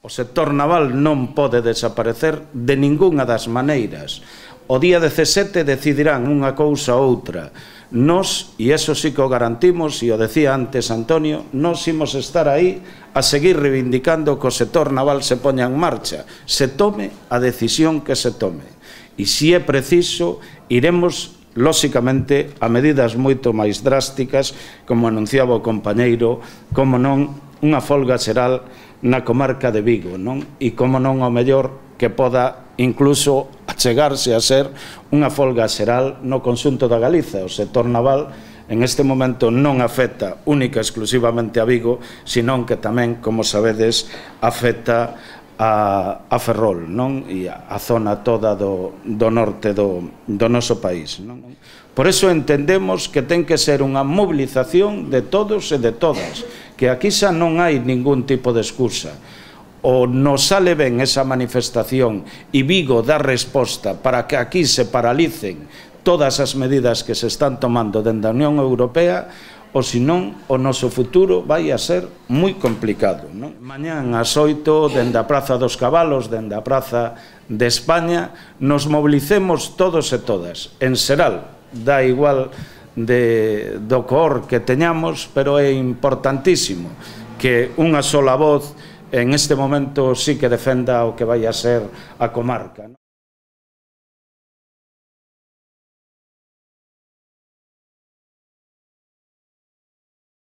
O sector naval non pode desaparecer de ningunha das maneiras. O día 17 decidirán unha cousa ou outra. Nos, e eso sí que o garantimos, e o decía antes Antonio, nos imos estar aí a seguir reivindicando que o sector naval se poña en marcha, se tome a decisión que se tome. E se é preciso, iremos lóxicamente a medidas moito máis drásticas, como anunciaba o compañeiro, como non unha folga xeral na comarca de Vigo, non? E como non o mellor que poda incluso achegarse a ser unha folga xeral no conxunto da Galiza. O sector naval en este momento non afecta única e exclusivamente a Vigo, senón que tamén, como sabedes, afecta a Ferrol, non? E a zona toda do norte do noso país, non? Por iso entendemos que ten que ser unha mobilización de todos e de todas, que aquí xa non hai ningún tipo de excusa. O nos sale ben esa manifestación e Vigo dá resposta para que aquí se paralicen todas as medidas que se están tomando dende a Unión Europea, ou senón o noso futuro vai a ser moi complicado, non? Mañán ás 8, dende a Praza dos Cabalos, dende a Praza de España, nos mobilicemos todos e todas. En xeral, dá igual do cor que teñamos, pero é importantísimo que unha sola voz en este momento sí que defenda o que vai a ser a comarca.